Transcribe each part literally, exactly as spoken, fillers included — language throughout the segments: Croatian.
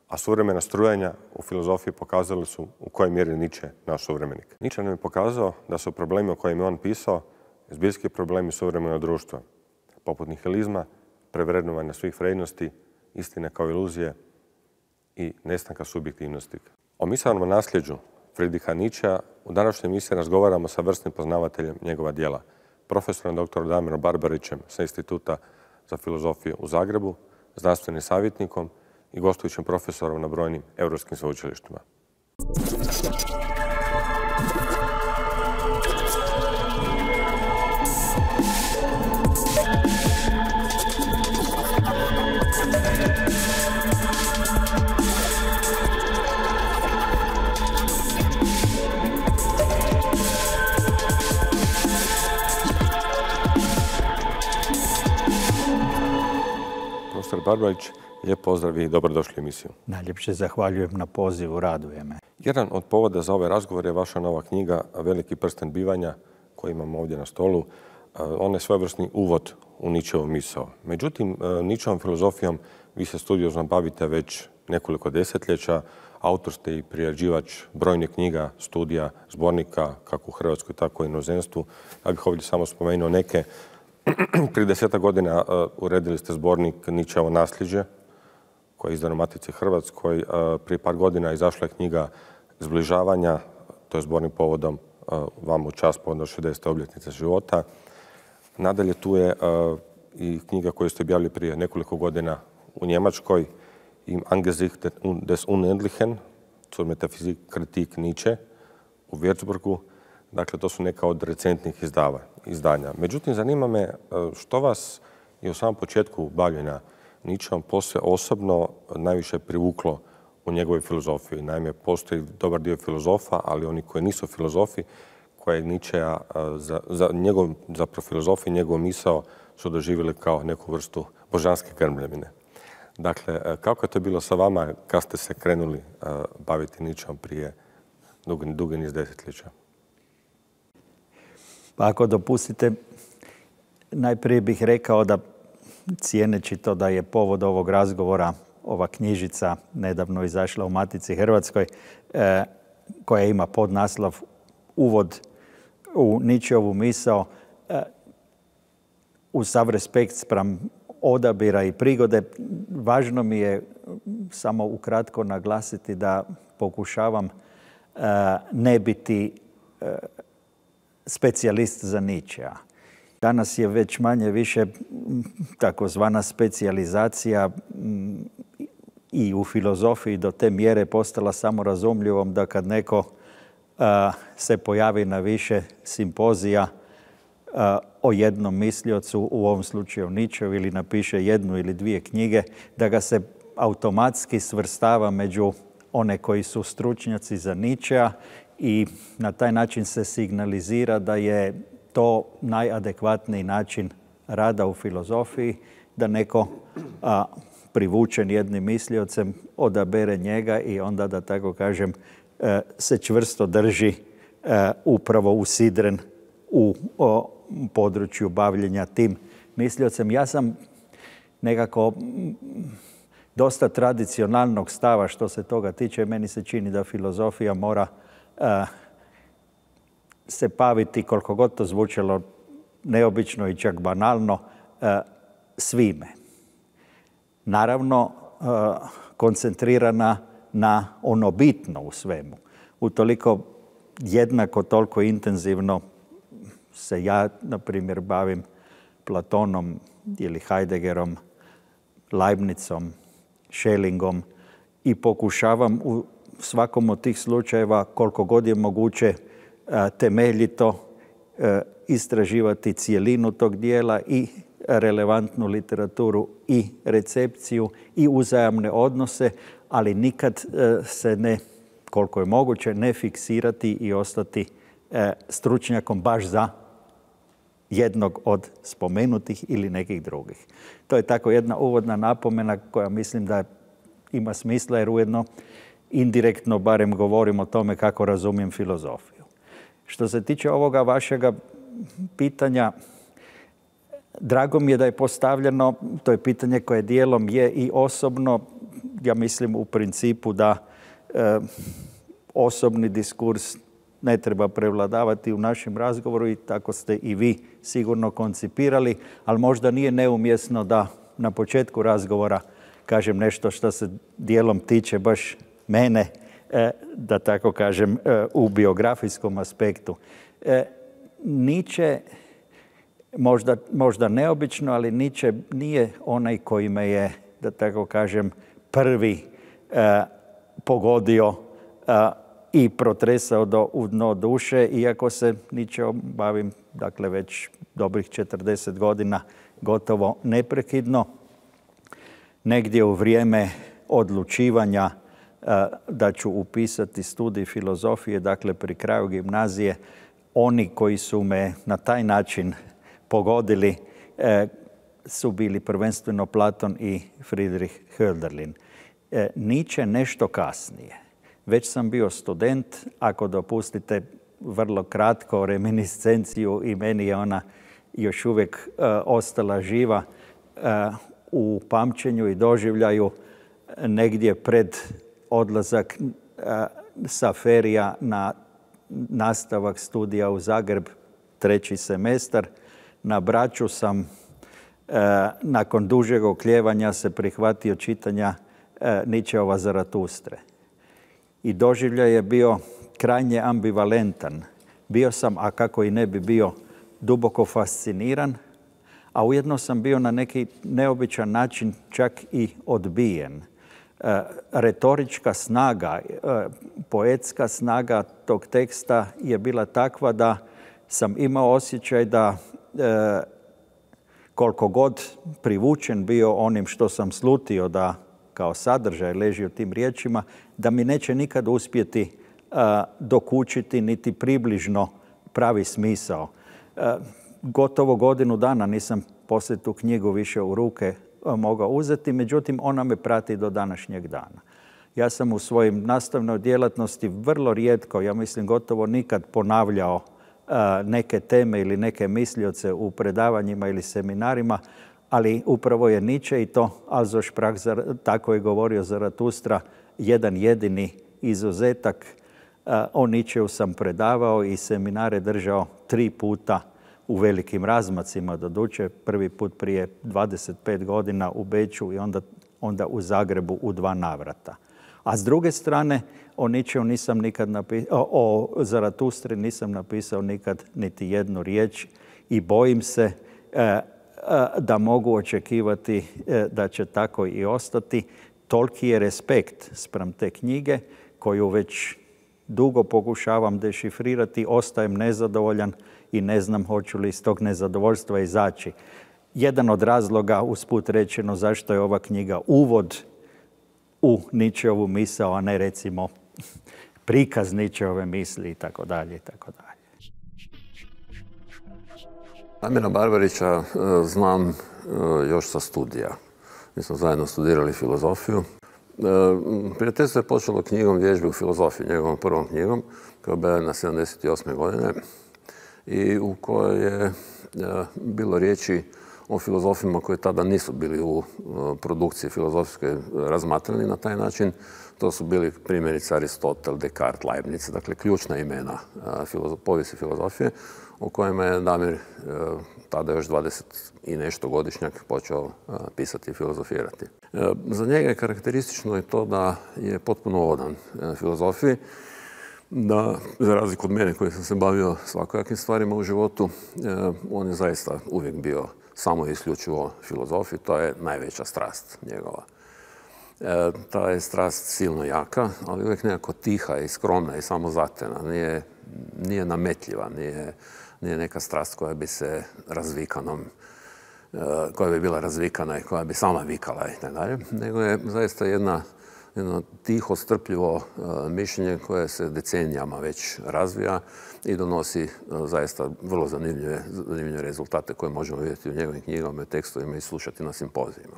a suvremena strujanja u filozofiji pokazali su u kojoj mjeri Nietzsche naš suvremenik. Nietzsche nam je pokazao da su problemi o kojima je on pisao zbiljski problemi suvremenog društva, poput nihilizma, prevrednovanja svih vrijednosti, istine kao iluzije i nestanka subjektivnosti. O misaonom nasljeđu Friedricha Nietzschea u današnjoj emisiji razgovaramo sa vrsnim poznavateljem njegova djela, profesorom doktorom Damirom Barbarićem sa Instituta za filozofiju u Zagrebu, znanstvenim savjetnikom i gostujućim profesorom na brojnim europskim sveučilištima. Profesor Barbarić, lijep pozdrav i dobrodošli u emisiju. Najljepše zahvaljujem na pozivu, raduje me. Jedan od povoda za ovaj razgovor je vaša nova knjiga Veliki prsten bivanja koju imamo ovdje na stolu. On je svojevrsni uvod u Nietzscheovu misao. Međutim, Nietzscheovom filozofijom vi se studiozno bavite već nekoliko desetljeća. Autor ste i priređivač brojnih knjiga, studija, zbornika, kako u Hrvatskoj, tako i u inozemstvu. Ja bih ovdje samo spomenuo neke. Prije desetak godina uredili ste zbornik Nietzscheovo nasljeđe, koji je izdan u Matici Hrvatskoj. Prije par godina izašla je knjiga Zbližavanja, to je zbornik povodom vam u čast povodom šezdesete obljetnice života. Nadalje tu je i knjiga koju ste objavili prije nekoliko godina u Njemačkoj, Im Angesicht des Unendlichen, zur Metaphysik-Kritik Nietzsche u Würzburgu. Dakle, to su neka od recentnih izdava, izdanja. Međutim, zanima me što vas je u samom početku bavljenja Nietzscheom posve osobno najviše privuklo u njegovoj filozofiji. Naime, postoji dobar dio filozofa, ali oni koji nisu filozofi, koje Nietzschea za, za, njegov, zapravo filozofiju i njegov misao su doživjeli kao neku vrstu božanske krmljevine. Dakle, kako je to bilo sa vama kad ste se krenuli baviti Nietzscheom prije dugi, dugi niz desetljeća? Pa ako dopustite, najprije bih rekao da cijeneći to da je povod ovog razgovora ova knjižica nedavno izašla u Matici Hrvatskoj, eh, koja ima podnaslov Uvod u Nietzscheovu misao, eh, uz sav respekt spram odabira i prigode, važno mi je samo ukratko naglasiti da pokušavam eh, ne biti eh, specijalist za Nietzschea. Danas je već manje više takozvana specijalizacija i u filozofiji do te mjere postala samorazumljivom da kad neko a, se pojavi na više simpozija a, o jednom misliocu, u ovom slučaju Nietzscheu, ili napiše jednu ili dvije knjige, da ga se automatski svrstava među one koji su stručnjaci za Nietzschea i na taj način se signalizira da je to najadekvatniji način rada u filozofiji, da neko a, privučen jednim misliocem odabere njega i onda, da tako kažem, a, se čvrsto drži a, upravo usidren u o, području bavljenja tim misliocem. Ja sam nekako dosta tradicionalnog stava što se toga tiče. Meni se čini da filozofija mora a, se baviti, koliko god to zvučalo neobično i čak banalno, svime. Naravno, koncentrirana na ono bitno u svemu. Utoliko jednako toliko intenzivno se ja, na primjer, bavim Platonom ili Heideggerom, Leibnicom, Schellingom i pokušavam u svakom od tih slučajeva, koliko god je moguće, temeljito istraživati cijelinu tog dijela i relevantnu literaturu i recepciju i uzajamne odnose, ali nikad se ne, koliko je moguće, ne fiksirati i ostati stručnjakom baš za jednog od spomenutih ili nekih drugih. To je tako jedna uvodna napomena koja mislim da ima smisla, jer ujedno indirektno barem govorim o tome kako razumijem filozofiju. Što se tiče ovoga vašega pitanja, Drago mi je da je postavljeno, to je pitanje koje dijelom je i osobno. Ja mislim u principu da e, osobni diskurs ne treba prevladavati u našem razgovoru i tako ste i vi sigurno koncipirali, ali možda nije neumjesno da na početku razgovora kažem nešto što se dijelom tiče baš mene, e, da tako kažem, e, u biografijskom aspektu. E, Nietzsche, možda, možda neobično, ali Nietzsche nije onaj koji me je, da tako kažem, prvi e, pogodio e, i protresao do, u dno duše, iako se Nietzscheom bavim, dakle, već dobrih četrdeset godina, gotovo neprekidno. Negdje u vrijeme odlučivanja e, da ću upisati studij filozofije, dakle, pri kraju gimnazije, oni koji su me na taj način pogodili e, su bili prvenstveno Platon i Friedrich Hölderlin. E, Nietzsche nešto kasnije. Već sam bio student, ako dopustite vrlo kratko reminiscenciju, i meni je ona još uvijek e, ostala živa e, u pamćenju i doživljaju negdje pred odlazak e, sa ferija na nastavak studija u Zagreb, treći semestar. Na Braču sam e, nakon dužeg oklijevanja se prihvatio čitanja e, Nietzscheova Zaratustre. I doživljaj je bio krajnje ambivalentan. Bio sam, a kako i ne bi bio, duboko fasciniran, a ujedno sam bio na neki neobičan način čak i odbijen. E, retorička snaga, e, poetska snaga tog teksta je bila takva da sam imao osjećaj da e, koliko god privučen bio onim što sam slutio da kao sadržaj leži u tim riječima, da mi neće nikad uspjeti uh, dokučiti niti približno pravi smisao. Uh, gotovo godinu dana nisam poslije tu knjigu više u ruke uh, mogao uzeti, međutim ona me prati do današnjeg dana. Ja sam u svojim nastavnoj djelatnosti vrlo rijetko, ja mislim gotovo nikad ponavljao uh, neke teme ili neke mislioce u predavanjima ili seminarima, ali upravo je Nietzsche, i to also sprach, tako je govorio Zaratustra, jedan jedini izuzetak. O Nietzscheu sam predavao i seminare držao tri puta u velikim razmacima, doduše prvi put prije dvadeset pet godina u Beču i onda, onda u Zagrebu u dva navrata. A s druge strane, o Nietzscheu nisam nikad napisao, o Zaratustri nisam napisao nikad niti jednu riječ i bojim se e, da mogu očekivati da će tako i ostati. Toliki je respekt spram te knjige koju već dugo pokušavam dešifrirati, ostajem nezadovoljan i ne znam hoću li iz tog nezadovoljstva izaći. Jedan od razloga, usput rečeno, zašto je ova knjiga uvod u Nietzscheovu misao, a ne recimo prikaz Nietzscheove misli i tako dalje i tako dalje. Damira Barbarića znam još sa studija. Mi smo zajedno studirali filozofiju. Prijateljstvo je počelo knjigom Vježbe u filozofiji, njegovom prvom knjigom, koja je objavljena sedamdeset osme godine i u kojoj je bilo riječi o filozofima koji tada nisu bili u produkciji filozofske razmatrani na taj način. To su bili primjerice Aristotel, Descartes, Leibniz, dakle ključna imena povijesti filozofije, o kojima je Damir, tada još dvadeset i nešto godišnjak, počeo pisati i filozofirati. Za njega je karakteristično i to da je potpuno odan filozofiji, da, za razliku od mene koji sam se bavio svakojakim stvarima u životu, on je zaista uvijek bio samo i isključivo filozofiji. To je najveća strast njegova. E, ta je strast silno jaka, ali uvijek nekako tiha i skromna i samozatena. Nije, nije nametljiva, nije, nije neka strast koja bi se razvikanom, e, koja bi bila razvikana i koja bi sama vikala i tako dalje, nego je zaista jedna, jedno tiho, strpljivo e, mišljenje koje se decenijama već razvija i donosi e, zaista vrlo zanimljive, zanimljive rezultate koje možemo vidjeti u njegovim knjigama, tekstovima i slušati na simpozijima.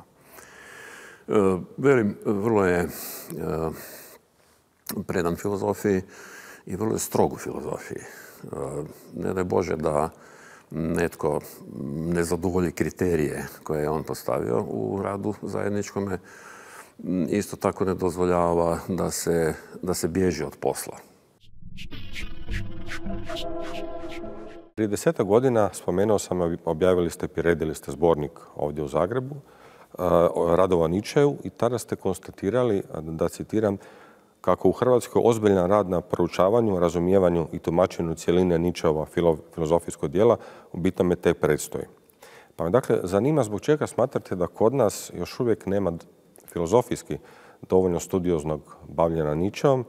E, velim, vrlo je e, predan filozofiji i vrlo je strog u filozofiji. E, ne daj Bože da netko ne zadovolji kriterije koje je on postavio u radu zajedničkome, isto tako ne dozvoljava da se, da se bježi od posla. Prije desetak godina, spomenuo sam, objavili ste, priredili ste zbornik ovdje u Zagrebu, radova Nietzscheju, i tada ste konstatirali, da citiram, kako u Hrvatskoj ozbiljan rad na proučavanju, razumijevanju i tumačenju cjeline Nietzscheova filozofijskog djela u bitnome tek predstoji. Pa me dakle zanima zbog čega smatrate da kod nas još uvijek nema filozofijski dovoljno studioznog bavljenja Nietzscheom,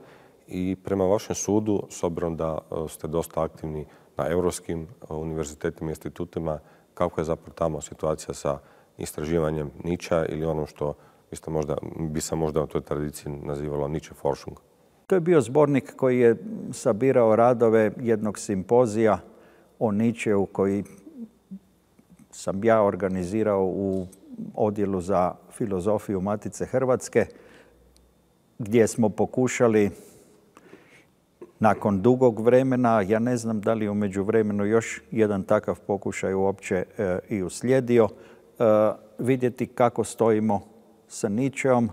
i prema vašem sudu, s obzirom da ste dosta aktivni na europskim univerzitetima i institutima, kako je zapravo tamo situacija sa istraživanjem Nietzschea ili ono što biste možda, bi se možda u toj tradiciji nazivalo Nietzsche Forschung? To je bio zbornik koji je sabirao radove jednog simpozija o Nietzscheu koji sam ja organizirao u odjelu za filozofiju Matice Hrvatske, gdje smo pokušali nakon dugog vremena, ja ne znam da li u međuvremenu još jedan takav pokušaj uopće e, i uslijedio, e, vidjeti kako stojimo sa Nietzscheom,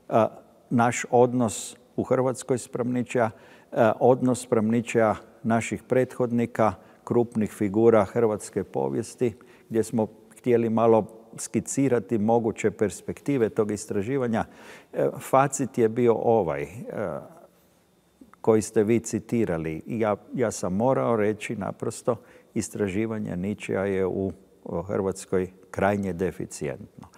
e, naš odnos u Hrvatskoj spram Nietzschea, e, odnos spram Nietzschea naših prethodnika, krupnih figura hrvatske povijesti, gdje smo htjeli malo skicirati moguće perspektive tog istraživanja. E, facit je bio ovaj, e, koji ste vi citirali. Ja, ja sam morao reći naprosto, istraživanje Nietzschea je u Hrvatskoj krajnje deficijentno.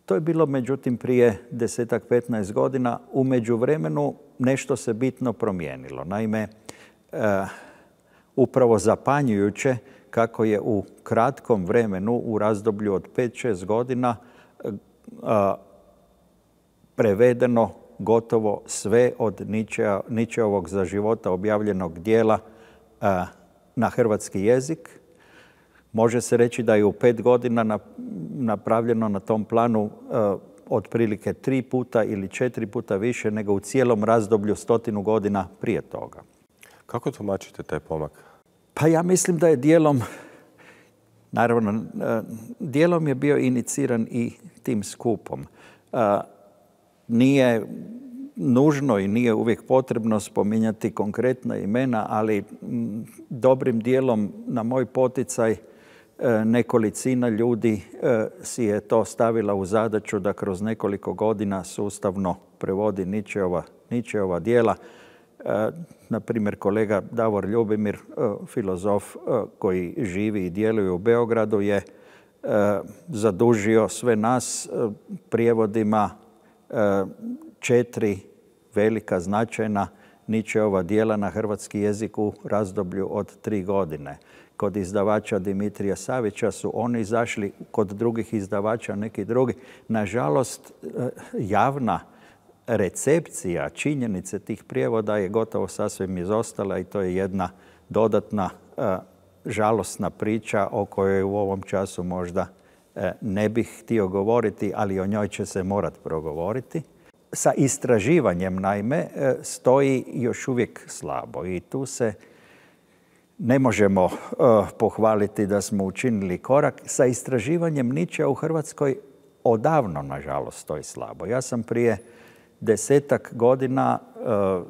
To je bilo međutim prije desetak, petnaest godina. U međuvremenu nešto se bitno promijenilo. Naime, e, upravo zapanjujuće kako je u kratkom vremenu, u razdoblju od pet šest godina, e, prevedeno gotovo sve od Nietzschea, Nietzscheovog za života objavljenog dijela a, na hrvatski jezik. Može se reći da je u pet godina na, napravljeno na tom planu a, otprilike tri puta ili četiri puta više nego u cijelom razdoblju stotinu godina prije toga. Kako tumačite taj pomak? Pa ja mislim da je dijelom, naravno, a, dijelom je bio iniciran i tim skupom. A, Nije nužno i nije uvijek potrebno spominjati konkretna imena, ali dobrim dijelom na moj poticaj nekolicina ljudi si je to stavila u zadaću da kroz nekoliko godina sustavno prevodi Nietzscheova, Nietzscheova djela. Na primjer, kolega Davor Ljubimir, filozof koji živi i djeluje u Beogradu, je zadužio sve nas prijevodima četiri velika, značajna Nietzscheova djela na hrvatski jezik u razdoblju od tri godine. Kod izdavača Dimitrija Savića su oni izašli, kod drugih izdavača neki drugi. Nažalost, javna recepcija činjenice tih prijevoda je gotovo sasvim izostala i to je jedna dodatna žalosna priča o kojoj u ovom času možda ne bih htio govoriti, ali o njoj će se morati progovoriti. Sa istraživanjem, naime, stoji još uvijek slabo i tu se ne možemo uh, pohvaliti da smo učinili korak. Sa istraživanjem Nietzschea u Hrvatskoj odavno, nažalost, stoji slabo. Ja sam prije desetak godina uh,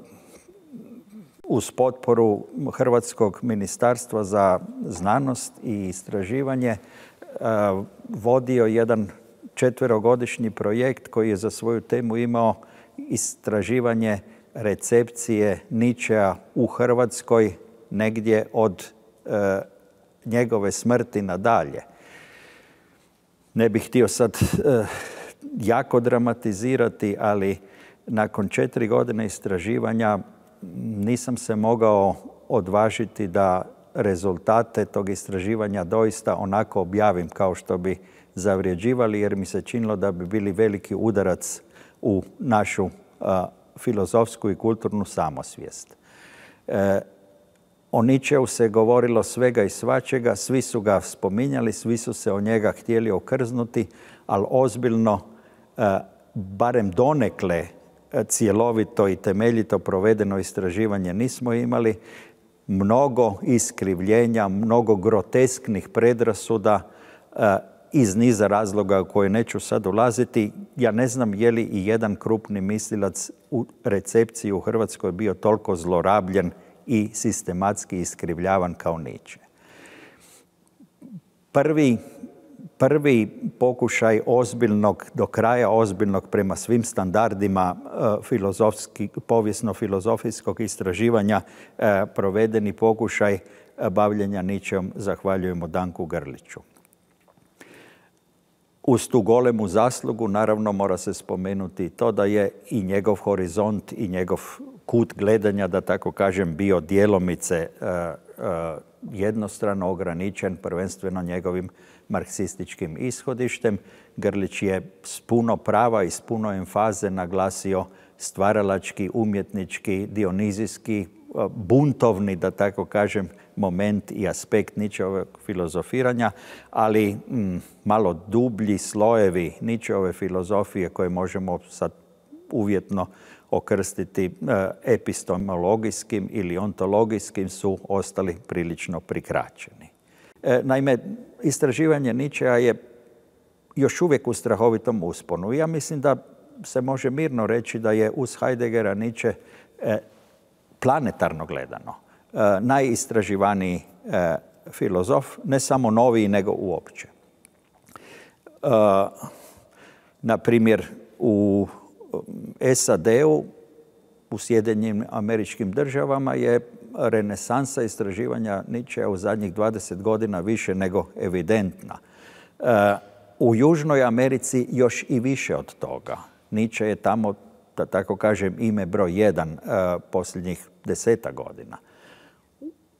uz potporu Hrvatskog ministarstva za znanost i istraživanje uh, vodio jedan četverogodišnji projekt koji je za svoju temu imao istraživanje recepcije Nietzschea u Hrvatskoj negdje od e, njegove smrti nadalje. Ne bih htio sad e, jako dramatizirati, ali nakon četiri godine istraživanja nisam se mogao odvažiti da rezultate tog istraživanja doista onako objavim kao što bi zavređivali, jer mi se činilo da bi bili veliki udarac u našu a, filozofsku i kulturnu samosvijest. E, o Nietzscheu se govorilo svega i svačega, svi su ga spominjali, svi su se o njega htjeli okrznuti, ali ozbiljno, a, barem donekle cjelovito i temeljito provedeno istraživanje nismo imali. mnogo iskrivljenja, mnogo grotesknih predrasuda iz niza razloga u koje neću sad ulaziti. Ja ne znam je li i jedan krupni mislilac u recepciji u Hrvatskoj bio toliko zlorabljen i sistematski iskrivljavan kao Nietzsche. Prvi, prvi pokušaj ozbiljnog, do kraja ozbiljnog prema svim standardima filozofski, povijesno-filozofijskog istraživanja provedeni pokušaj bavljenja Nietzscheom zahvaljujemo Danku Grliću. Uz tu golemu zaslugu, naravno, mora se spomenuti to da je i njegov horizont i njegov kut gledanja, da tako kažem, bio djelomice uh, uh, jednostrano ograničen, prvenstveno njegovim marksističkim ishodištem. Grlić je s puno prava i s puno emfaze naglasio stvaralački, umjetnički, dionizijski, uh, buntovni, da tako kažem, moment i aspekt Nietzscheovog filozofiranja, ali mm, malo dublji slojevi Nietzscheove filozofije koje možemo sad uvjetno okrstiti e, epistemologijskim ili ontologijskim su ostali prilično prikraćeni. E, naime, istraživanje Nietzschea je još uvijek u strahovitom usponu. Ja mislim da se može mirno reći da je uz Heideggera Nietzsche e, planetarno gledano e, najistraživaniji e, filozof, ne samo noviji, nego uopće. E, na primjer, u S A D-u, u Sjedinjenim Američkim Državama je renesansa istraživanja Nietzschea u zadnjih dvadeset godina više nego evidentna. E, u Južnoj Americi još i više od toga. Nietzsche je tamo, da tako kažem, ime broj jedan e, posljednjih deseta godina.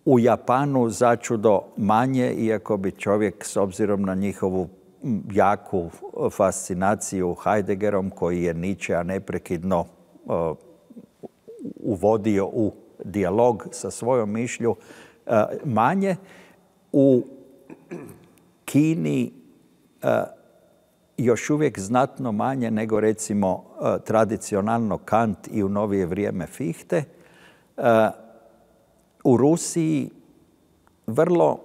U Japanu začudo manje, iako bi čovjek s obzirom na njihovu jaku fascinaciju Heideggerom, koji je Nietzschea neprekidno uh, uvodio u dijalog sa svojom mišlju, uh, manje. U Kini uh, još uvijek znatno manje nego recimo uh, tradicionalno Kant i u novije vrijeme Fichte. Uh, u Rusiji vrlo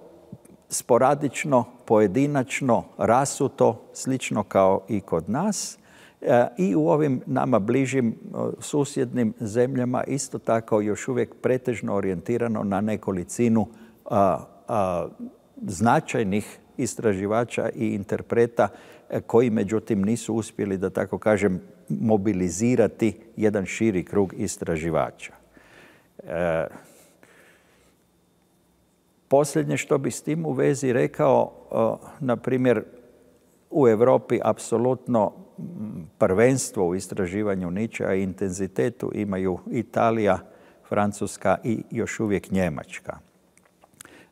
sporadično, pojedinačno, rasuto, slično kao i kod nas. E, I u ovim nama bližim susjednim zemljama isto tako još uvijek pretežno orijentirano na nekolicinu a, a, značajnih istraživača i interpreta e, koji međutim nisu uspjeli, da tako kažem, mobilizirati jedan širi krug istraživača. E, Posljednje što bi s tim u vezi rekao, na primjer, u Europi apsolutno prvenstvo u istraživanju Nietzschea i intenzitetu imaju Italija, Francuska i još uvijek Njemačka.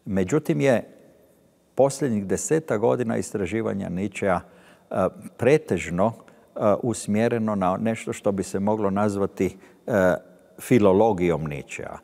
Međutim je posljednjih deseta godina istraživanja Nietzschea pretežno usmjereno na nešto što bi se moglo nazvati filologijom Nietzschea.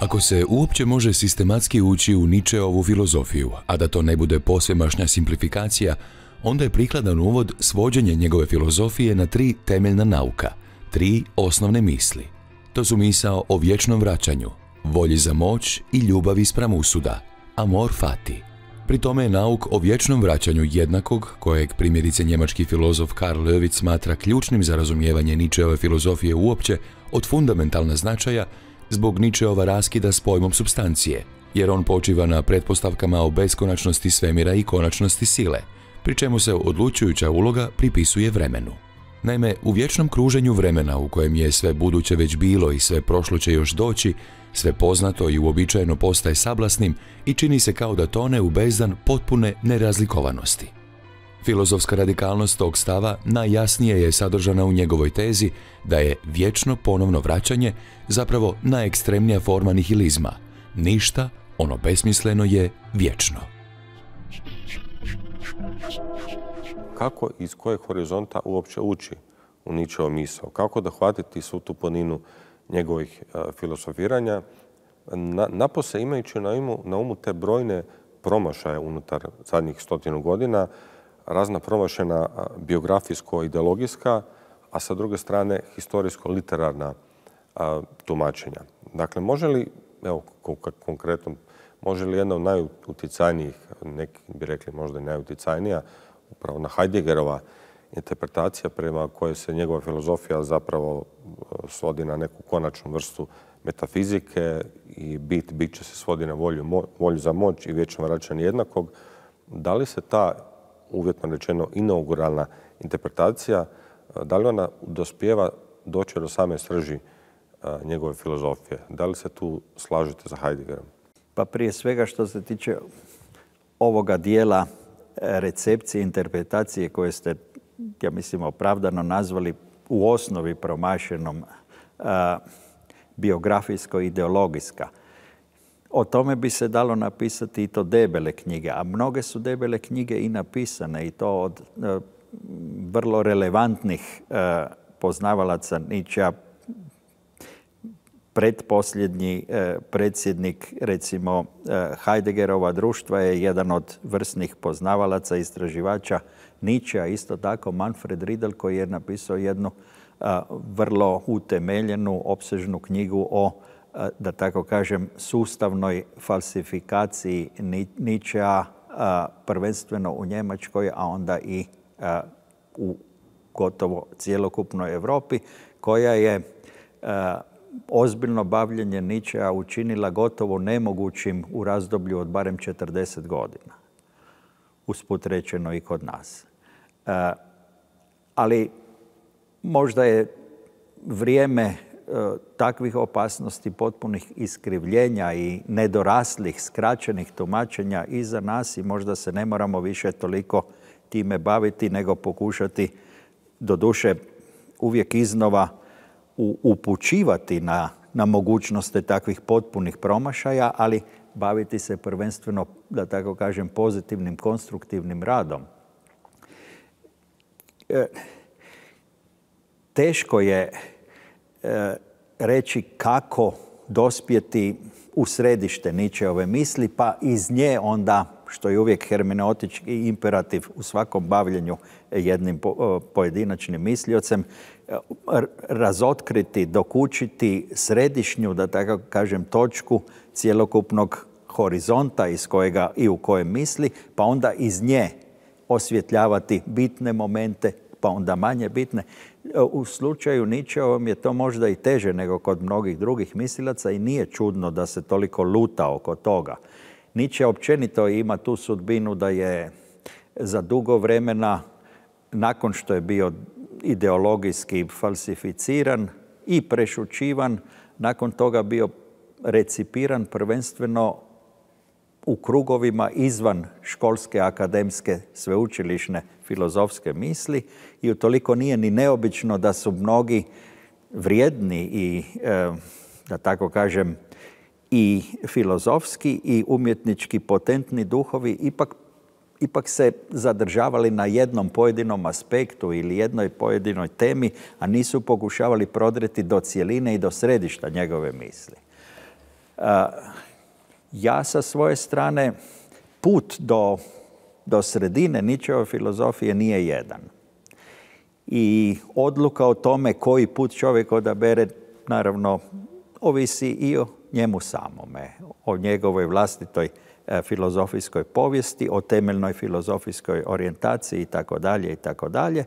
Ako se uopće može sistematski ući u Nietzscheovu filozofiju, a da to ne bude posvemašnja simplifikacija, onda je prikladan uvod svođenje njegove filozofije na tri temeljna nauka, tri osnovne misli. To su misao o vječnom vraćanju, volji za moć i ljubavi spram usuda, amor fati. Pri tome je nauk o vječnom vraćanju jednakog, kojeg primjerice njemački filozof Karl Löwitz smatra ključnim za razumijevanje Nietzscheove filozofije uopće, od fundamentalna značaja zbog Nietzscheova raskida s pojmom supstancije, jer on počiva na pretpostavkama o beskonačnosti svemira i konačnosti sile, pri čemu se odlučujuća uloga pripisuje vremenu. Naime, u vječnom kruženju vremena u kojem je sve buduće već bilo i sve prošlo će još doći, sve poznato i uobičajeno postaje sablasnim i čini se kao da tone u bezdan potpune nerazlikovanosti. Filozofska radikalnost tog stava najjasnije je sadržana u njegovoj tezi da je vječno ponovno vraćanje zapravo najekstremnija forma nihilizma. Ništa, ono besmisleno, je vječno. Kako i iz kojeg horizonta uopće ući u Nietzscheovu misao? Kako da hvatiti svu tu poninu njegovih uh, filosofiranja, na, napose imajući na umu, na umu te brojne promašaje unutar zadnjih stotinu godina, razna promašena biografijsko-ideologijska, a sa druge strane historijsko-literarna tumačenja. Dakle, može li, evo konkretno, može li jedna od najutjecajnijih, neki bi rekli možda i najutjecajnija, upravo na Heideggerova interpretacija prema kojoj se njegova filozofija zapravo svodi na neku konačnu vrstu metafizike i bit, bit će se svodi na volju, volju za moć i vječno vraćanje jednakog. Da li se ta, uvjetno rečeno, inauguralna interpretacija, da li ona dospijeva doći do same srži njegove filozofije? Da li se tu slažete za Heideggerom? Pa prije svega što se tiče ovoga dijela recepcije, interpretacije koje ste, ja mislim, opravdano nazvali u osnovi promašenom biografijsko-ideologijska. O tome bi se dalo napisati i to debele knjige, a mnoge su debele knjige i napisane i to od vrlo relevantnih poznavalaca Nietzschea. Predposljednji predsjednik, recimo, Heideggerova društva je jedan od vrsnih poznavalaca, istraživača Nietzschea, isto tako Manfred Riedel, koji je napisao jednu vrlo utemeljenu, opsežnu knjigu o, da tako kažem, sustavnoj falsifikaciji Nietzschea, prvenstveno u Njemačkoj, a onda i u gotovo cjelokupnoj Europi, koja je ozbiljno bavljenje Nietzschea učinila gotovo nemogućim u razdoblju od barem četrdeset godina. Usput rečeno i kod nas. Ali možda je vrijeme takvih opasnosti, potpunih iskrivljenja i nedoraslih, skraćenih tumačenja iza nas i možda se ne moramo više toliko time baviti, nego pokušati, doduše uvijek iznova, upućivati na, na mogućnosti takvih potpunih promašaja, ali baviti se prvenstveno, da tako kažem, pozitivnim, konstruktivnim radom. E, teško je e, reći kako dospjeti u središte Nietzscheove misli, pa iz nje onda, što je uvijek hermeneutički imperativ u svakom bavljenju jednim po, pojedinačnim misliocem, razotkriti, dokučiti središnju, da tako kažem, točku cjelokupnog horizonta iz kojega i u kojem misli, pa onda iz nje osvjetljavati bitne momente, pa onda manje bitne. U slučaju Nietzscheovom je to možda i teže nego kod mnogih drugih mislilaca i nije čudno da se toliko luta oko toga. Nietzsche općenito ima tu sudbinu da je za dugo vremena, nakon što je bio ideologijski falsificiran i prešućivan, nakon toga bio recipiran prvenstveno u krugovima izvan školske, akademske, sveučilišne filozofske misli i utoliko nije ni neobično da su mnogi vrijedni i, da tako kažem, i filozofski i umjetnički potentni duhovi ipak ipak se zadržavali na jednom pojedinom aspektu ili jednoj pojedinoj temi, a nisu pokušavali prodreti do cjeline i do središta njegove misli. Ja sa svoje strane, put do, do sredine Nietzscheove filozofije nije jedan. I odluka o tome koji put čovjek odabere, naravno, ovisi i o njemu samome, o njegovoj vlastitoj filozofijskoj povijesti, o temeljnoj filozofijskoj orijentaciji i tako dalje i tako dalje.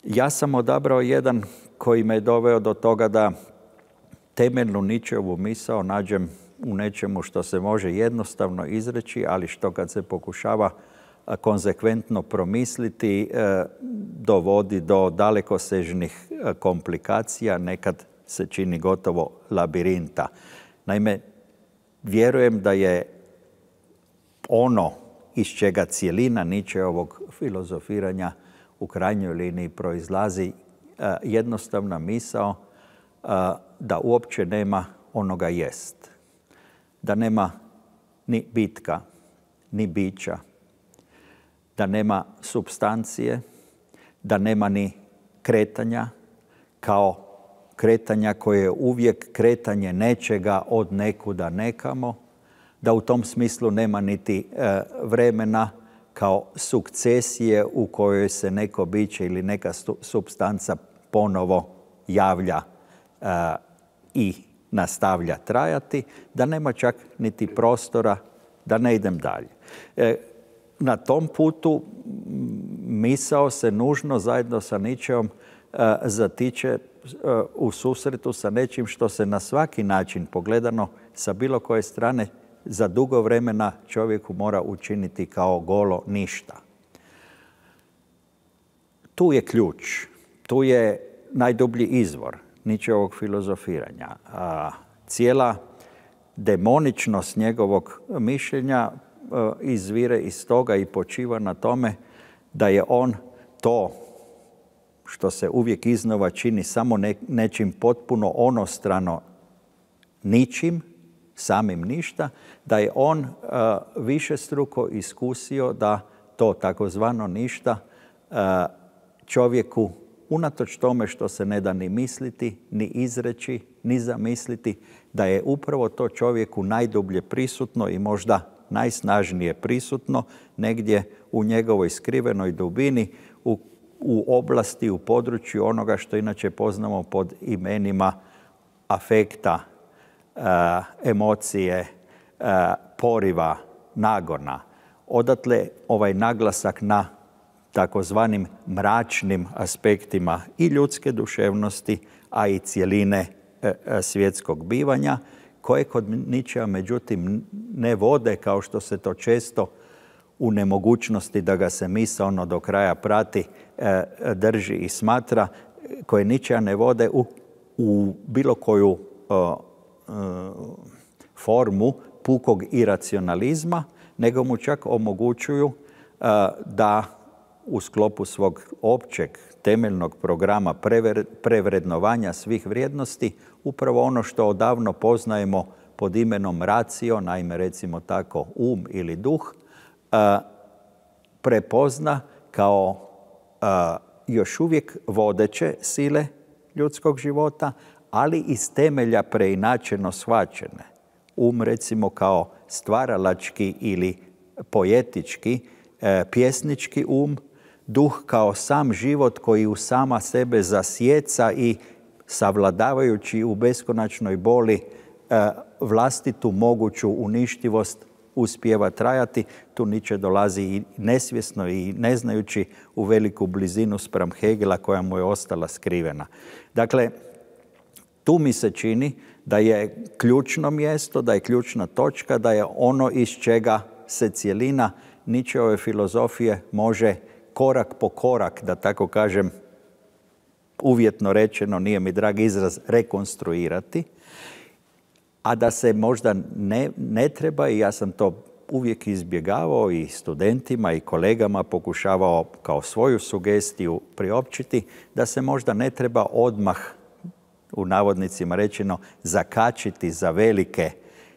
Ja sam odabrao jedan koji me je doveo do toga da temeljnu Nietzscheovu misao nađem u nečemu što se može jednostavno izreći, ali što kad se pokušava konzekventno promisliti dovodi do dalekosežnih komplikacija, nekad se čini gotovo labirinta. Naime, vjerujem da je ono iz čega cijelina Nietzscheovog filozofiranja u krajnjoj liniji proizlazi jednostavna misao da uopće nema onoga jest. Da nema ni bitka, ni bića, da nema supstancije, da nema ni kretanja kao kretanja koje je uvijek kretanje nečega od nekuda nekamo, da u tom smislu nema niti e, vremena kao sukcesije u kojoj se neko biće ili neka supstanca ponovo javlja a, i nastavlja trajati, da nema čak niti prostora da ne idem dalje. E, na tom putu misao se nužno zajedno sa Nietzscheom a, zatiče a, u susretu sa nečim što se na svaki način pogledano sa bilo koje strane za dugo vremena čovjeku mora učiniti kao golo ništa. Tu je ključ, tu je najdublji izvor Nietzscheovog filozofiranja. A cijela demoničnost njegovog mišljenja a, izvire iz toga i počiva na tome da je on to što se uvijek iznova čini samo ne, nečim potpuno onostrano ničim, samim ništa, da je on uh, višestruko iskusio da to takozvano ništa uh, čovjeku, unatoč tome što se ne da ni misliti, ni izreći, ni zamisliti, da je upravo to čovjeku najdublje prisutno i možda najsnažnije prisutno negdje u njegovoj skrivenoj dubini, u, u oblasti, u području onoga što inače poznamo pod imenima afekta, Uh, emocije, uh, poriva, nagona. Odatle ovaj naglasak na takozvanim mračnim aspektima i ljudske duševnosti, a i cjeline uh, svjetskog bivanja, koje kod Nietzschea međutim ne vode, kao što se to često u nemogućnosti da ga se misaono do kraja prati, uh, drži i smatra, koje Nietzschea ne vode u, u bilo koju uh, formu pukog iracionalizma, nego mu čak omogućuju uh, da u sklopu svog općeg temeljnog programa prevr prevrednovanja svih vrijednosti upravo ono što odavno poznajemo pod imenom racio, naime recimo tako um ili duh, uh, prepozna kao uh, još uvijek vodeće sile ljudskog života, ali iz temelja preinačeno shvaćene. Um recimo kao stvaralački ili poetički, e, pjesnički um, duh kao sam život koji u sama sebe zasjeca i savladavajući u beskonačnoj boli e, vlastitu moguću uništivost uspijeva trajati. Tu Nietzsche dolazi i nesvjesno i ne znajući u veliku blizinu spram Hegela koja mu je ostala skrivena. Dakle, tu mi se čini da je ključno mjesto, da je ključna točka, da je ono iz čega se cjelina Nietzscheove filozofije može korak po korak, da tako kažem, uvjetno rečeno, nije mi drag izraz, rekonstruirati, a da se možda ne, ne treba, i ja sam to uvijek izbjegavao i studentima i kolegama pokušavao kao svoju sugestiju priopćiti, da se možda ne treba odmah, u navodnicima rečeno, zakačiti za velike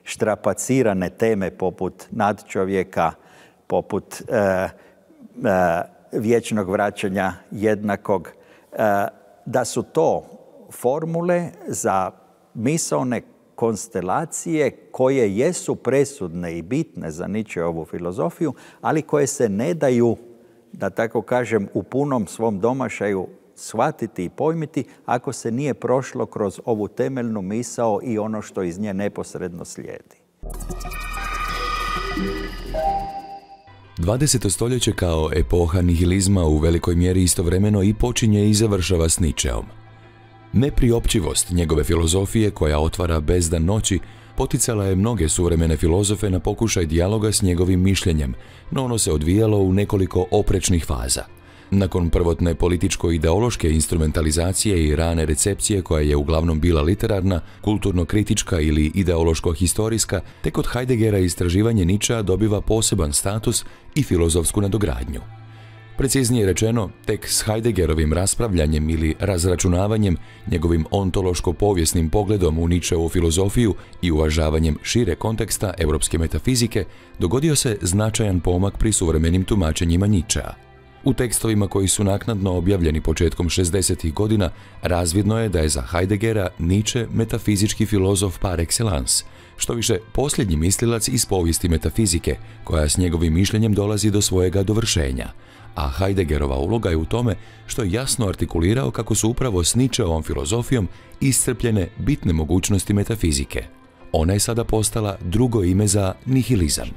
štrapacirane teme poput nadčovjeka, poput e, e, vječnog vraćanja jednakog, e, da su to formule za misaone konstelacije koje jesu presudne i bitne za Nietzscheovu filozofiju, ali koje se ne daju, da tako kažem, u punom svom domašaju shvatiti i pojmiti ako se nije prošlo kroz ovu temeljnu misao i ono što iz nje neposredno slijedi. dvadeseto stoljeće kao epoha nihilizma u velikoj mjeri istovremeno i počinje i završava s Nietzscheom. Nepriopćivost njegove filozofije, koja otvara bezdan noći, poticala je mnoge suvremene filozofe na pokušaj dijaloga s njegovim mišljenjem, no ono se odvijalo u nekoliko oprečnih faza. Nakon prvotne političko-ideološke instrumentalizacije i rane recepcije koja je uglavnom bila literarna, kulturno-kritička ili ideološko-historijska, tek od Heideggera istraživanje Nietzschea dobiva poseban status i filozofsku nadogradnju. Preciznije rečeno, tek s Heideggerovim raspravljanjem ili razračunavanjem, njegovim ontološko-povijesnim pogledom u Nietzscheovu filozofiju i uvažavanjem šire konteksta europske metafizike, dogodio se značajan pomak pri suvremenim tumačenjima Nietzschea. U tekstovima koji su naknadno objavljeni početkom šezdesetih godina razvidno je da je za Heideggera Nietzsche metafizički filozof par excellence, što više posljednji mislilac iz povijesti metafizike, koja s njegovim mišljenjem dolazi do svojega dovršenja, a Heideggerova uloga je u tome što je jasno artikulirao kako su upravo s Nietzscheovom filozofijom iscrpljene bitne mogućnosti metafizike. Ona je sada postala drugo ime za nihilizam.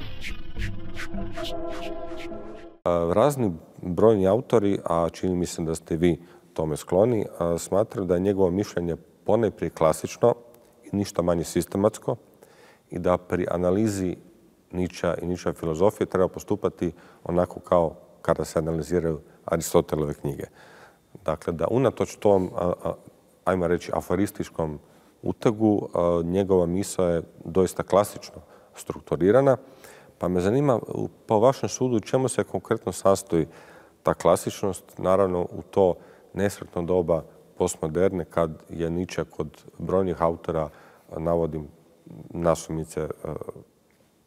Razni brojni autori, a čini mi se da ste vi tome skloni, smatraju da je njegovo mišljenje ponajprije klasično i ništa manje sistematsko i da pri analizi Nietzschea i Nietzscheove filozofije treba postupati onako kao kada se analiziraju Aristotelove knjige. Dakle, da unatoč tom, ajmo reći, aforističkom utegu, njegova misao je doista klasično strukturirana. Pa me zanima, po vašem sudu, čemu se konkretno sastoji ta klasičnost, naravno u to nesretno doba postmoderne, kad je Nietzsche kod brojnih autora, navodim nasumice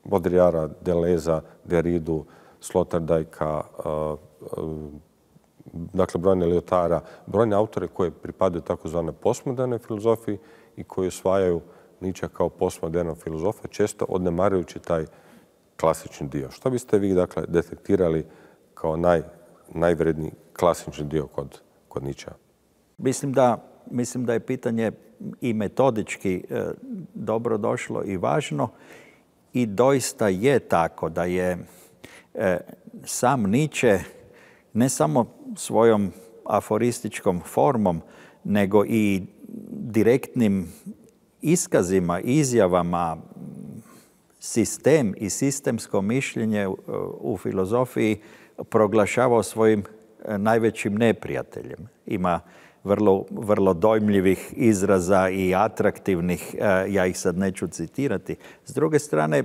Baudrillarda, Deleuza, Derridu, Sloterdijka, dakle brojne Lyotara, brojne autore koje pripadaju takozvanoj postmodernoj filozofiji i koji osvajaju Nietzsche kao postmodernog filozofa, često odnemarujući taj klasični dio. Što biste vi, dakle, detektirali kao naj, najvredniji klasični dio kod, kod Nietzschea? Mislim da, mislim da je pitanje i metodički e, dobro došlo i važno i doista je tako da je e, sam Nietzsche ne samo svojom aforističkom formom, nego i direktnim iskazima, izjavama, sistem i sistemsko mišljenje u filozofiji proglašavao svojim najvećim neprijateljem. Ima vrlo, vrlo dojmljivih izraza i atraktivnih, ja ih sad neću citirati. S druge strane,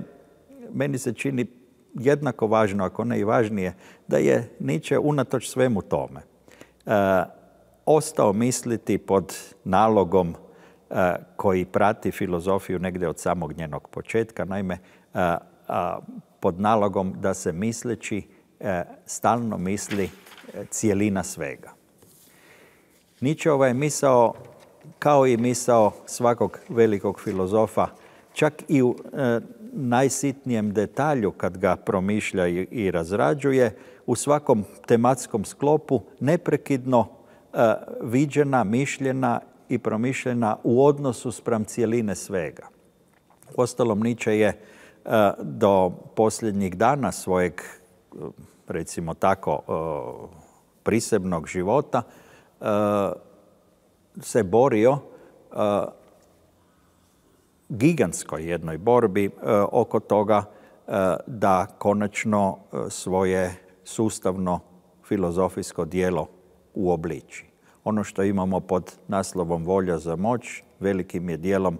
meni se čini jednako važno, ako ne i važnije, da je Nietzsche unatoč svemu tome e, ostao misliti pod nalogom e, koji prati filozofiju negdje od samog njenog početka, naime e, a, pod nalogom da se misleći e, stalno misli e, cijelina svega. Nietzscheova je misao, kao i misao svakog velikog filozofa, čak i u e, najsitnijem detalju kad ga promišlja i, i razrađuje, u svakom tematskom sklopu neprekidno e, viđena, mišljena i promišljena u odnosu spram cijeline svega. Uostalom, Nietzsche je e, do posljednjih dana svojeg, recimo tako, e, prisebnog života e, se borio e, gigantskoj jednoj borbi e, oko toga e, da konačno e, svoje sustavno filozofijsko djelo uobliči. Ono što imamo pod naslovom Volja za moć velikim je dijelom,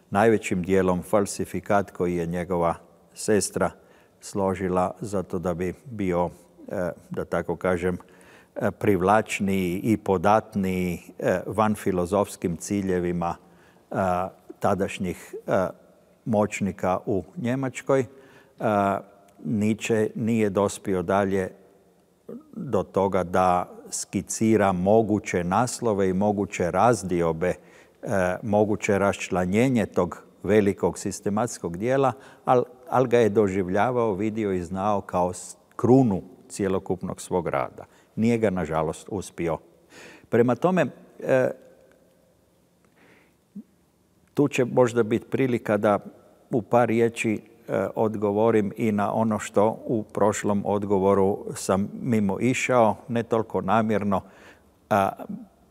najvećim dijelom falsifikat koji je njegova sestra složila zato da bi bio, e, da tako kažem, e, privlačniji i podatniji e, van filozofskim ciljevima e, tadašnjih e, moćnika u Njemačkoj. E, Nietzsche nije dospio dalje do toga da skicira moguće naslove i moguće razdiobe, e, moguće raščlanjenje tog velikog sistematskog dijela, ali al ga je doživljavao, vidio i znao kao krunu cjelokupnog svog rada. Nije ga, nažalost, uspio. Prema tome, e, tu će možda biti prilika da u par riječi e, odgovorim i na ono što u prošlom odgovoru sam mimo išao, ne toliko namjerno, a,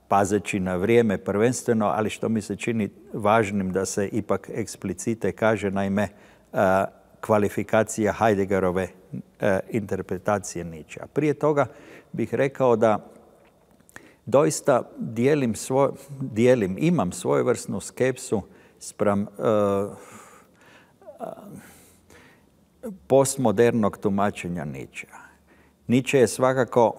pazeći na vrijeme prvenstveno, ali što mi se čini važnim da se ipak eksplicite kaže, naime, a, kvalifikacija Heideggerove a, interpretacije Nietzschea. Prije toga bih rekao da doista dijelim, svoj, dijelim imam svojevrsnu skepsu spram uh, uh, postmodernog tumačenja Nietzschea. Nietzsche je svakako,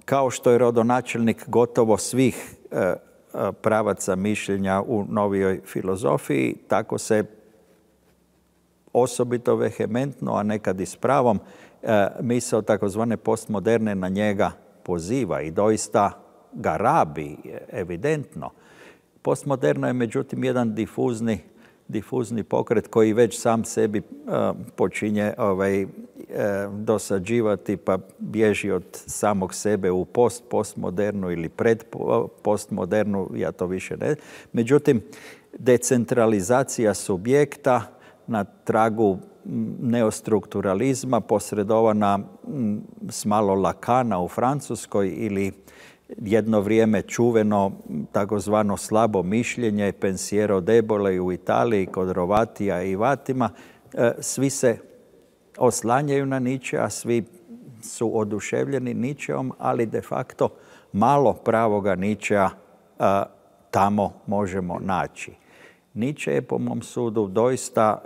kao što je rodonačelnik gotovo svih uh, uh, pravaca mišljenja u novijoj filozofiji, tako se osobito vehementno, a nekad i s pravom, misao takozvane postmoderne na njega poziva i doista ga rabi, evidentno. Postmoderno je međutim jedan difuzni, difuzni pokret koji već sam sebi uh, počinje ovaj, uh, dosađivati pa bježi od samog sebe u post, postmodernu ili pred postmodernu, ja to više ne. Međutim, decentralizacija subjekta na tragu neostrukturalizma posredovana s malo Lacana u Francuskoj ili jedno vrijeme čuveno takozvano slabo mišljenje Pensiero debole u Italiji kod Rovatija i Vatima. Svi se oslanjaju na Nietzsche, a svi su oduševljeni Nietzscheom, ali de facto malo pravoga Nietzschea tamo možemo naći. Nietzsche je po mom sudu doista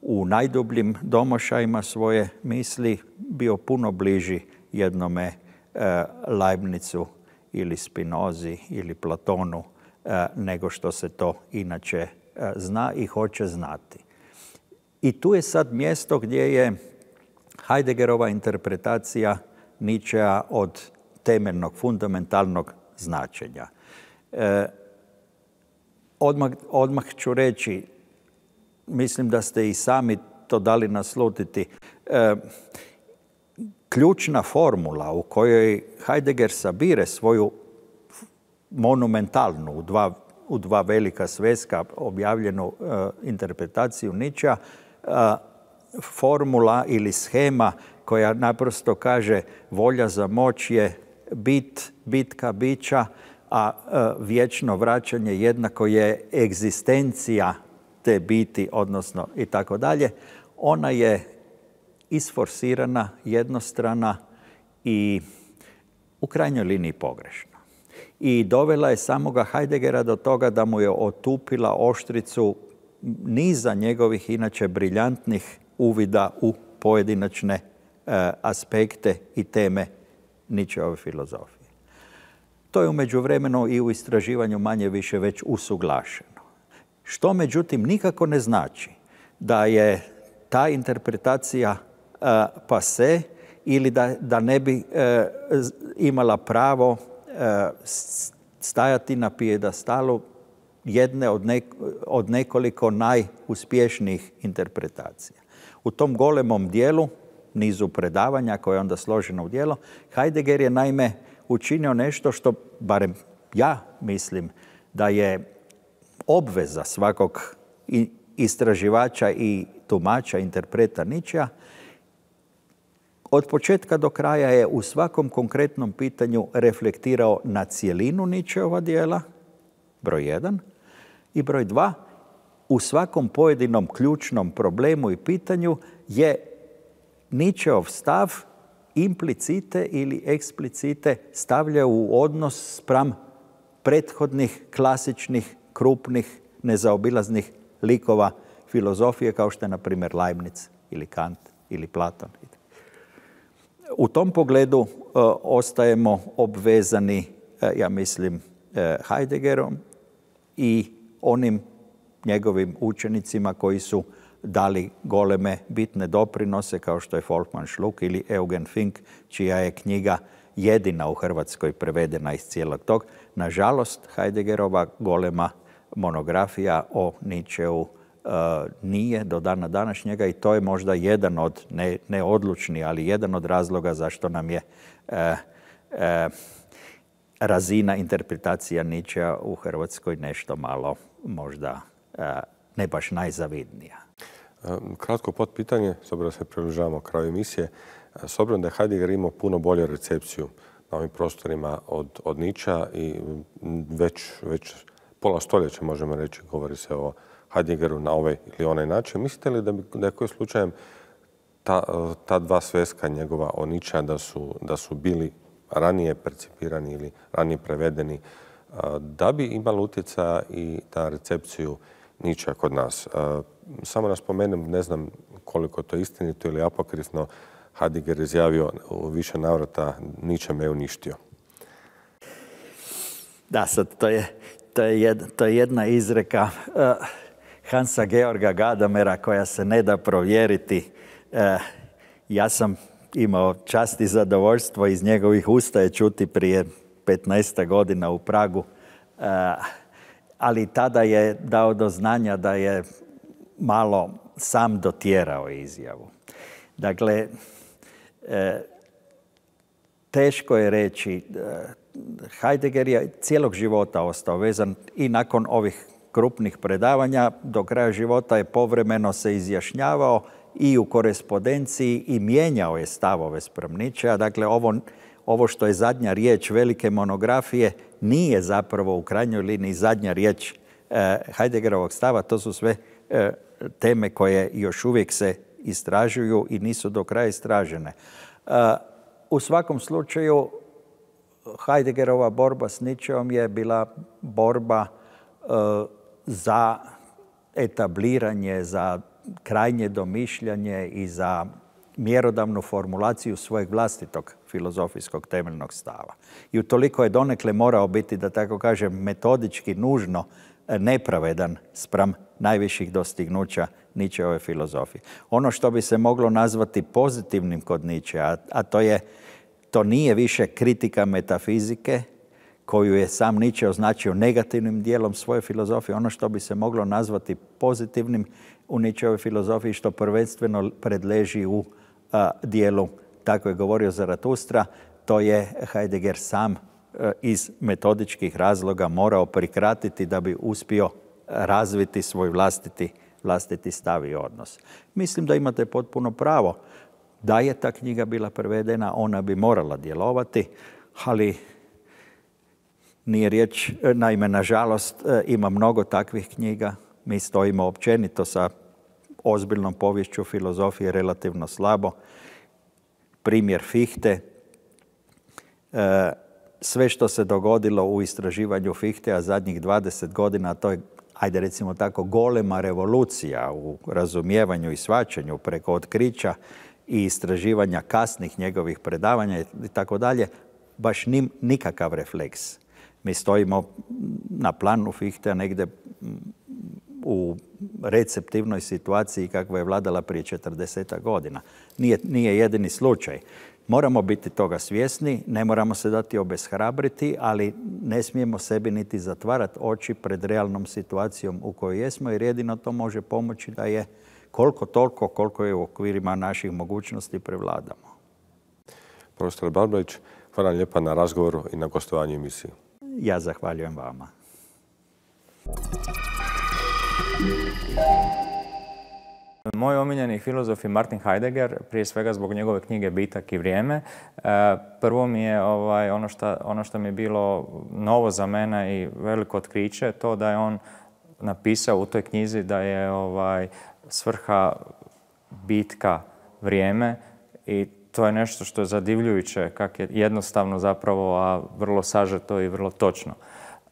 u najdubljim domašajima svoje misli bio puno bliži jednome Leibnizu ili Spinozi ili Platonu nego što se to inače zna i hoće znati. I tu je sad mjesto gdje je Heideggerova interpretacija Nietzschea od temeljnog, fundamentalnog značenja. Odmah, odmah ću reći, mislim da ste i sami to dali naslutiti, ključna formula u kojoj Heidegger sabire svoju monumentalnu, u dva, u dva velika sveska objavljenu uh, interpretaciju Nietzschea, uh, formula ili shema koja naprosto kaže volja za moć je bit, bitka bića, a uh, vječno vraćanje jednako je egzistencija te biti, odnosno i tako dalje. Ona je isforsirana, jednostrana i u krajnjoj liniji pogrešna. I dovela je samoga Heideggera do toga da mu je otupila oštricu niza njegovih inače briljantnih uvida u pojedinačne e, aspekte i teme Nietzscheove filozofije. To je u međuvremenu i u istraživanju manje više već usuglašeno. Što međutim nikako ne znači da je ta interpretacija Uh, pase ili da, da ne bi uh, imala pravo uh, stajati na pijedastalu jedne od, ne, od nekoliko najuspješnijih interpretacija. U tom golemom dijelu, nizu predavanja koje je onda složeno u dijelo, Heidegger je naime učinio nešto što, barem ja mislim, da je obveza svakog istraživača i tumača, interpreta Nietzschea. Od početka do kraja je u svakom konkretnom pitanju reflektirao na cjelinu Nietzscheova dijela, broj jedan, i broj dva, u svakom pojedinom ključnom problemu i pitanju je Nietzscheov stav implicite ili eksplicite stavlja u odnos spram prethodnih, klasičnih, krupnih, nezaobilaznih likova filozofije kao što je, na primjer, Leibniz ili Kant ili Platon. U tom pogledu uh, ostajemo obvezani, uh, ja mislim, uh, Heideggerom i onim njegovim učenicima koji su dali goleme bitne doprinose kao što je Volkmann Schluck ili Eugen Fink, čija je knjiga jedina u Hrvatskoj prevedena iz cijelog tog. Nažalost, Heideggerova golema monografija o Nietzscheu Uh, nije do dana današnjega i to je možda jedan od, ne, ne odlučni, ali jedan od razloga zašto nam je uh, uh, razina interpretacija Nietzschea u Hrvatskoj nešto malo možda uh, ne baš najzavidnija. Kratko potpitanje, s obzirom da se približavamo kraju emisije. S obzirom da je Heidegger imao puno bolju recepciju na ovim prostorima od, od Nietzschea i već, već pola stoljeća, možemo reći, govori se o Heideggeru na ovaj ili onaj način. Mislite li da, bi, da je koji slučajem ta, ta dva sveska njegova o Nietzschea da su, da su bili ranije percipirani ili ranije prevedeni, da bi imalo utjecaja i ta recepciju Nietzschea kod nas? Samo da spomenem, ne znam koliko to je istinito ili apokrifno, Heidegger izjavio u više navrata Nietzsche me uništio. Da, sad to je, to je, jed, to je jedna izreka uh, Hansa Georga Gadamera koja se ne da provjeriti. Uh, Ja sam imao čast i zadovoljstvo iz njegovih usta je čuti prije petnaest godina u Pragu, ali tada je dao do znanja da je malo sam dotjerao izjavu. Dakle, teško je reći, Heidegger je cijelog života ostao vezan i nakon ovih krupnih predavanja do kraja života je povremeno se izjašnjavao i u korespondenciji i mijenjao je stavove spram Nietzschea. Dakle, ovo, ovo što je zadnja riječ velike monografije nije zapravo u krajnjoj liniji zadnja riječ eh, Heideggerovog stava. To su sve eh, teme koje još uvijek se istražuju i nisu do kraja istražene. Uh, u svakom slučaju, Heideggerova borba s Nietzscheom je bila borba uh, za etabliranje, za krajnje domišljanje i za mjerodavnu formulaciju svojeg vlastitog filozofijskog temeljnog stava. I utoliko je donekle morao biti, da tako kažem, metodički nužno nepravedan spram najviših dostignuća Nietzscheove filozofije. Ono što bi se moglo nazvati pozitivnim kod Nietzschea, a to je, to nije više kritika metafizike, koju je sam Nietzsche označio negativnim dijelom svoje filozofije, ono što bi se moglo nazvati pozitivnim u Nietzscheovoj filozofiji, što prvenstveno predleži u a, dijelu, tako je govorio Zaratustra, to je Heidegger sam a, iz metodičkih razloga morao prikratiti da bi uspio razviti svoj vlastiti, vlastiti stav i odnos. Mislim da imate potpuno pravo. Da je ta knjiga bila prevedena, ona bi morala djelovati, ali nije riječ, naime, nažalost, ima mnogo takvih knjiga. Mi stojimo općenito sa ozbiljnom poviješću filozofije relativno slabo. Primjer Fichte. Sve što se dogodilo u istraživanju Fichtea zadnjih dvadeset godina, to je, ajde recimo tako, golema revolucija u razumijevanju i shvaćanju preko otkrića i istraživanja kasnih njegovih predavanja i tako dalje, baš nim, nikakav refleks. Mi stojimo na planu Fichtea negdje u receptivnoj situaciji kakva je vladala prije četrdesetak godina. Nije, nije jedini slučaj. Moramo biti toga svjesni, ne moramo se dati obeshrabriti, ali ne smijemo sebi niti zatvarati oči pred realnom situacijom u kojoj jesmo, jer jedino to može pomoći da je koliko toliko, koliko je u okvirima naših mogućnosti prevladamo. Profesor Barbarić, hvala vam lijepa na razgovoru i na gostovanju emisiji. Ja zahvaljujem vama. Moj omiljeni filozof je Martin Heidegger, prije svega zbog njegove knjige Bitak i vrijeme. Prvo mi je ovaj, ono, što, ono što mi je bilo novo za mene i veliko otkriće, to da je on napisao u toj knjizi da je ovaj, svrha bitka vrijeme i to je nešto što je zadivljujuće, kako je jednostavno zapravo, a vrlo sažeto i vrlo točno.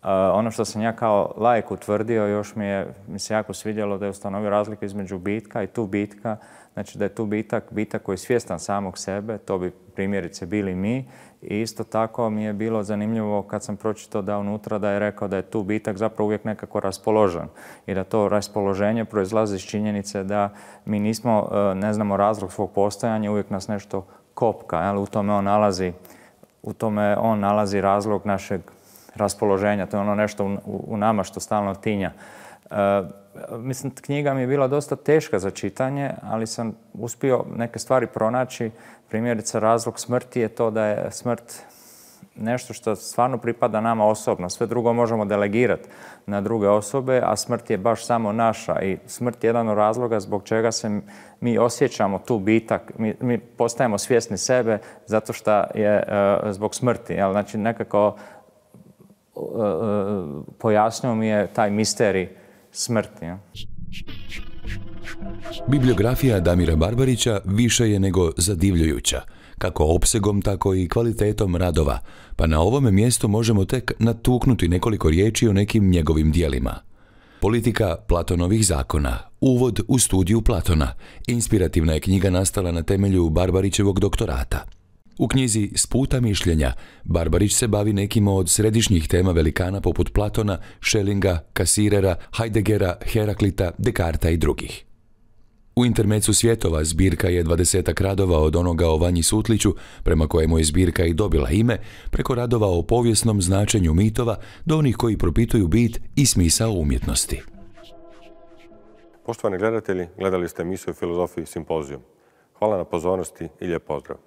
Uh, ono što sam ja kao laik utvrdio, još mi, je, mi se jako svidjelo da je ustanovio razliku između bitka i tu bitka. Znači da je tu bitak, bitak koji je svjestan samog sebe, to bi primjerice bili mi. I isto tako mi je bilo zanimljivo kad sam pročitao da unutra da je rekao da je tu bitak zapravo uvijek nekako raspoložen. I da to raspoloženje proizlazi iz činjenice da mi nismo, ne znamo razlog svog postojanja, uvijek nas nešto kopka. Jel? U tome on nalazi, u tome on nalazi razlog našeg raspoloženja. To je ono nešto u, u nama što stalno tinja. E, mislim, knjiga mi je bila dosta teška za čitanje, ali sam uspio neke stvari pronaći. Primjerice, razlog smrti je to da je smrt nešto što stvarno pripada nama osobno. Sve drugo možemo delegirati na druge osobe, a smrt je baš samo naša. I smrt je jedan od razloga zbog čega se mi osjećamo tu bitak. Mi, mi postajemo svjesni sebe zato što je uh, zbog smrti. Jel? Znači, nekako uh, uh, pojasnio mi je taj misterij smrti. Ja? Bibliografija Damira Barbarića više je nego zadivljujuća, kako opsegom, tako i kvalitetom radova, pa na ovome mjestu možemo tek natuknuti nekoliko riječi o nekim njegovim dijelima. Politika Platonovih zakona, uvod u studiju Platona, inspirativna je knjiga nastala na temelju Barbarićevog doktorata. U knjizi S puta mišljenja Barbarić se bavi nekim od središnjih tema velikana poput Platona, Schellinga, Cassirera, Heideggera, Heraklita, Descartesa i drugih. U Intermecu svjetova zbirka je dvadesetak radova od onoga o Vanji Sutliću, prema kojemu je zbirka i dobila ime, preko radova o povijesnom značenju mitova do onih koji propituju bit i smisao umjetnosti. Poštovani gledatelji, gledali ste emisiju Filozofiji simpozijum. Hvala na pozornosti i lijep pozdrav.